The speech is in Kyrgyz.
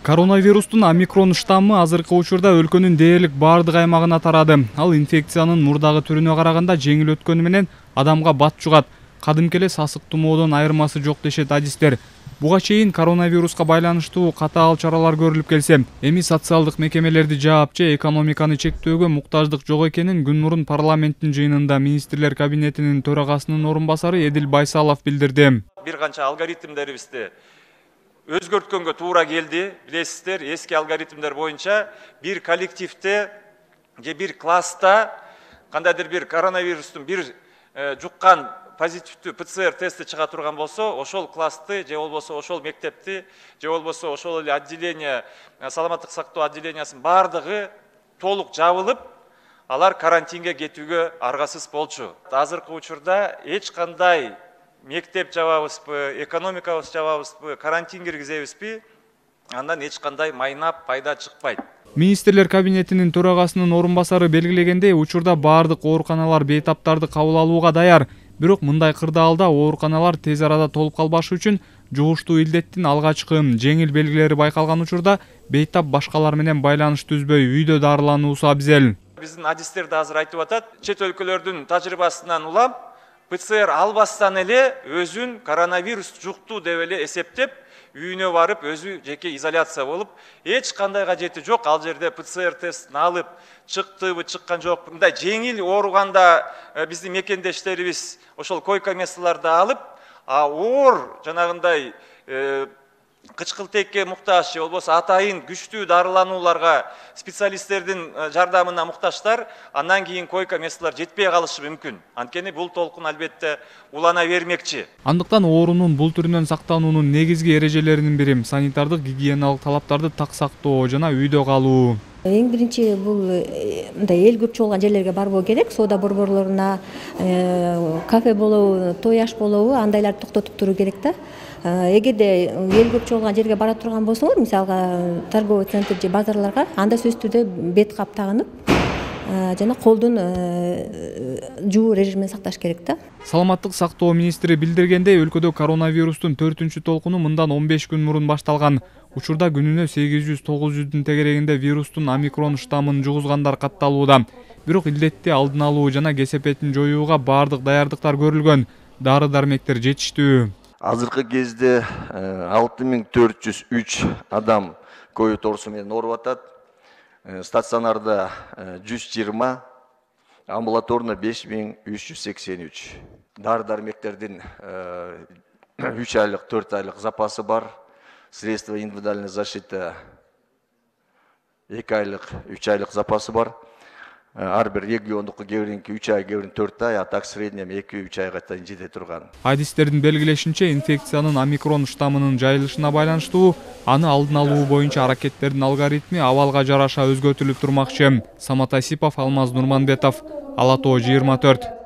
Коронавирустун омикрон штаммы азыркы учурда өлкөнүн дээрлик бардык аймагына тарады. Ал инфекциянын мурдагы түрүнө караганда жеңил өткөнү менен адамга бат жугат. Кадимки эле сасык тумоодон айырмасы жок дешет адистер. Буга чейин коронавируска байланыштуу катаал чаралар көрүлүп келсе, эми социалдык мекемелерди жаап же экономиканы чектөөгө муктаждык жок экенин күн мурун парламенттин жыйынында министрлер кабинетинин төрагасынын орун басары Эдил Байсалов билдирди. Бир канча алгоритмдерибизди өзгөрткөнгө туура келди. Билесиздер, эски алгоритмдер боюнча бир коллективде же бир класста кандайдыр бир коронавирустун бир жуккан позитивдүү ПЦР тести чыга турган болсо, ошол классты же болбосо ошол мектепти же болбосо ошол эле отделение, саламаттык сактоо отделениясынын бардыгы толук жабылып, алар карантинге кетүүгө аргасыз болчу. Азыркы учурда эч кандай мектеп жабабызбы, экономикабыз жабабызбы, карантин киргизебизби, андан эч кандай майнап пайда чыкпайт. Министрлер кабинетинин төрагасынын орун басары белгилегендей, учурда бардык ооруканалар бейтаптарды кабыл алууга даяр. Бирок мындай кырдаалда ооруканалар тез арада толуп калбашы үчүн жугуштуу илдеттин алгачкы жеңил белгилери байкалган учурда бейтап башкалар менен байланыш түзбөй үйдө дарылануусу абзел. Биздин адистер да азыр айтып атат, чет өлкөлөрдүн тажрыйбасынан улам ПЦР албастан эле өзүн коронавирус жукту деп эле эсептеп, үйүнө барып өзү жеке изоляция болуп, эч кандай кажети жок ал жерде ПЦР тестин алып чыктыбы, чыккан жокпу. Мындай жеңил ооруганда биздин мекендештерибиз ошол койка месталарды алып, оор жанагындай кычкылтекке муктаж же болбосо атайын күчтүү дарыланууларга специалисттердин жардамына муктаждар, андан кийин койка месталар жетпей калышы мүмкүн. Анткени бул толкун албетте улана бермекчи. Андыктан оорунун бул түрүнөн сактануунун негизги эрежелеринин бири санитардык гигиеналык талаптарды так сактоо жана үйдө калуу. Эң биринчи бул мындай эл көп чогулган жерлерге барбоо керек. Соода борборлоруна, кафе болобу, той аш болобу, андайларды токтотуп туруу керек да. Эгерде эл көп чогулган жерге бара турган болсоңор, мисалга торговый центр же базарларга, анда сөзсүз түрдө бет кап тагынып, жана колдун жуу режимин сакташ керек да. Саламаттык сактоо министри билдиргендей, өлкөдө коронавирустун 4-чү толкуну мындан 15 күн мурун башталган. Учурда күнүнө 800-900 тегерегинде вирустун омикрон штаммын жугузгандар катталууда. Бирок илдетти алдын алуу жана кесепетин жоюуга бардык даярдыктар көрүлгөн. Дары-дармектер жетиштүү. Азыркы кезде 6403 адам ковид оорусу менен ооруп атат. Стационарда 120, амбулаторно 5383. Дары-дармектердин 3 айлык, 4 айлык запасы бар. Средства индивидуальной защиты 2 айлык, 3 айлык запасы бар. Ар бир региондук кээ-биринки 3 ай, кээ-бирин 4 ай, а так среднем 2-3 айга чейин жете турган. Адистердин белгилешинче, инфекциянын омикрон штаммынын жайылышына байланыштуу аны алдын алуу боюнча аракеттердин алгоритми абалга жараша өзгөртүлүп турмакчы. Самат Асипов, Алмаз Нурманбетов, Ала Тоо 24.